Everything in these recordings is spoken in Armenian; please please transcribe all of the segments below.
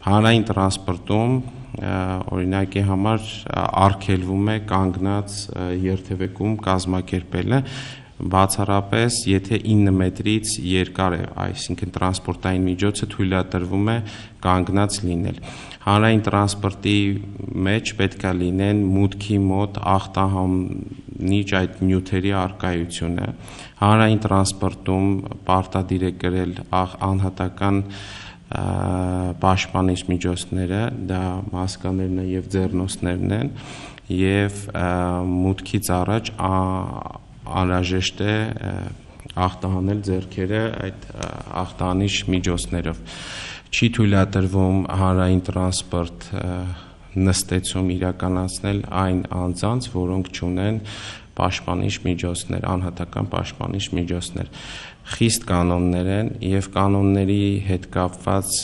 Հանրային տրանսպորտում օրինակի համար արգելվում է կանգնած երթևեկում կազմակերպելը, բացառապես եթե 9 մետրից երկար է, այսինքն տրանսպորտային միջոցը թույլատրվում է կանգնած լինել։ Հանրային տրանսպորտի մեջ պետք է լինեն մուտքի մոտ ախտահանիչ այդ նյութերի առկայությունը։ Հանրային տրանսպորտում պարտադիր է կրել անհատական պաշտպանիչ միջոցները, դա մասկաներն են եւ ձեռնոցներն են, եւ մուտքից առաջ անհրաժեշտ է ախտահանել ձեռքերը այդ ախտահանիչ միջոցներով։ Չի թույլատրվում հանրային տրանսպորտ նստեցում իրականացնել այն անձանց, որոնք չունեն պաշտպանիչ միջոցներ, անհատական պաշտպանիչ միջոցներ։ Խիստ կանոններ են եւ կանոնների հետ կապված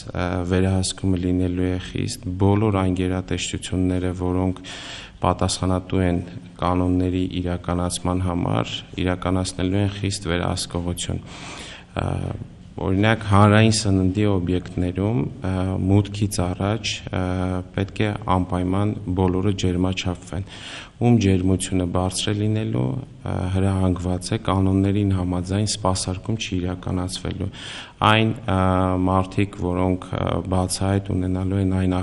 վերահսկումը լինելու է խիստ, բոլոր այն գերատեսչությունները, որոնք պատասխանատու են կանոնների իրականացման համար, իրականացնելու են խիստ վերահսկողություն։ Օրինակ հանրային սննդի օբյեկտներում մուտքից առաջ պետք է անպայման բոլորը ջերմաչափվեն, ում ջերմությունը բարձր է լինելու հրահանգված է կանոններին համաձայն սպասարկում չի իրականացվելու։ Այն մարդիկ, որոնք բացահայտ ունենալու են այն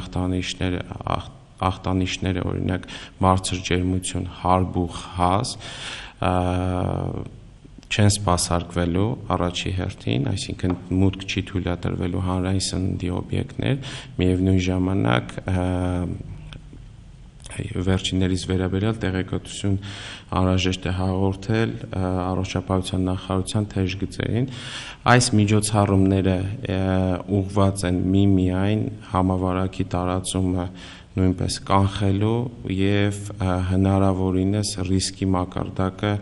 ախտանիշները, օրինակ բարձր ջերմություն, հարբուխ, հազ, չեն սպասարկվելու առաջի հերթին, այսինքն մուտք չի թույլատրվելու հանրային սննդի օբյեկտներ, միևնույն ժամանակ վերջիններիս վերաբերյալ տեղեկատվություն անհրաժեշտ է հաղորդել առողջապահության նախարարության թեժգծերին։ Այս միջոցառումները ուղղված են միմիայն համավարակի տարածումը նույնպես կանխելու եւ հնարավորինս ռիսկի մակարդակը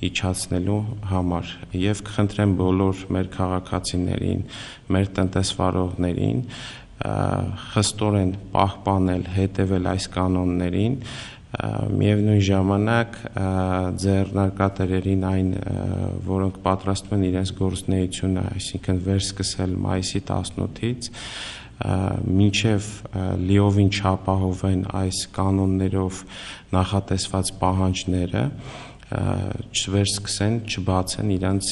իջացնելու համար եւ կխնդրեմ բոլոր մեր քաղաքացիներին, մեր տնտեսվարողներին խստորեն պահպանել, հետևել այս կանոններին, միևնույն ժամանակ ձեռնարկատերերին այն, որոնք պատրաստվում են իրենց գործունեությունը, այսինքն վերսկսել մայիսի 18-ից, մինչև լիովին չապահովեն այս կանոններով նախատեսված պահանջները, չվերսկսեն, չբացեն իրենց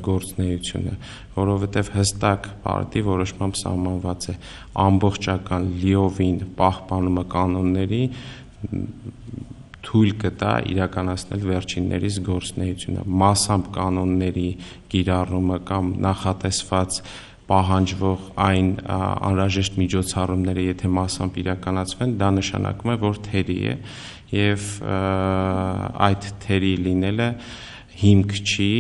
գործունեությունը, որովհետև հստակ պարտի որոշմամբ սահմանված է ամբողջական լիովին պահպանումը կանոնների թույլ կտա իրականացնել վերջիններիս գործունեությունը, մասամբ կանոնների կիրառումը կամ նախատեսված պահանջվող այն անհրաժեշտ միջոցառումները, եթե մասամբ իրականացվեն, դա նշանակում է, որ թերի է եւ այդ թերի լինելը հիմք չի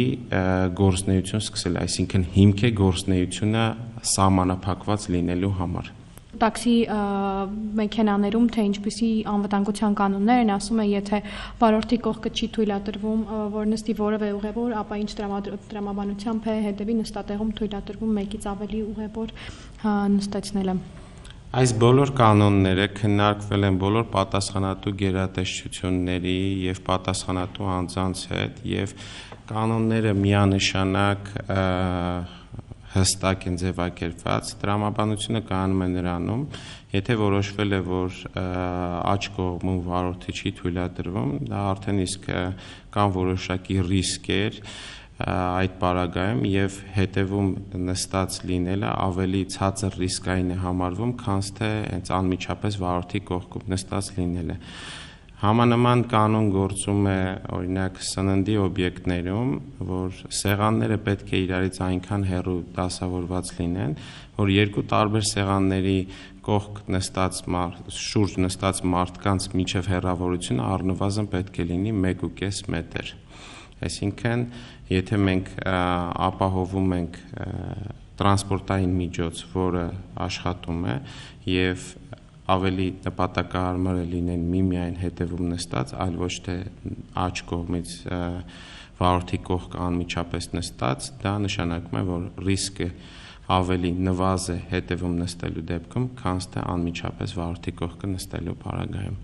գործունեություն սկսել, այսինքն հիմք է գործունեությունը սահմանափակված լինելու համար։ Տաքսի մեքենաներում թե ինչպիսի անվտանգության կանոններ են, ասում է, եթե վարորդի կողքը չի թույլատրվում, որ նստի որևէ ուղևոր, ապա ինչ տրամաբանությամբ է հետևի նստատեղում թույլատրվում մեկից ավելի ուղևոր նստեցնելը։ Այս բոլոր կանոնները քննարկվել են բոլոր պատասխանատու գերատեսչությունների եւ պատասխանատու անձանց հետ եւ կանոնները միանշանակ հստակ են ձևակերպված, տրամաբանությունը կայանում է նրանում, եթե որոշվել է, որ աջ կողմում վարորդի չի թույլատրվում, դա արդեն իսկ կան որոշակի ռիսկեր այդ պարագայում եւ հետևում նստած լինելը ավելի ցածր ռիսկային է համարվում, քան թե հենց անմիջապես վարորդի կողքում նստած լինելը։ Համանման կանոն գործում է օրինակ սննդի օբյեկտներում, որ սեղանները պետք է իրարից այնքան հեռու դասավորված լինեն, որ երկու տարբեր սեղանների կողք նստած շուրջ նստած մարդկանց միջև հեռավորությունը առնվազն պետք է լինի 1.5 մետր։ Այսինքն, եթե մենք ապահովում ենք տրանսպորտային միջոց, որը աշխատում է եւ ավելի նպատակահարմար է լինեն միմիայն հետևում նստած, այլ ոչ թե աջ կողմից վարորդի կողք անմիջապես նստած, դա նշանակում է, որ ռիսկը ավելի նվազ է հետևում նստելու դեպքում, քան թե անմիջապես վարորդի կողքը նստելու պարագայում։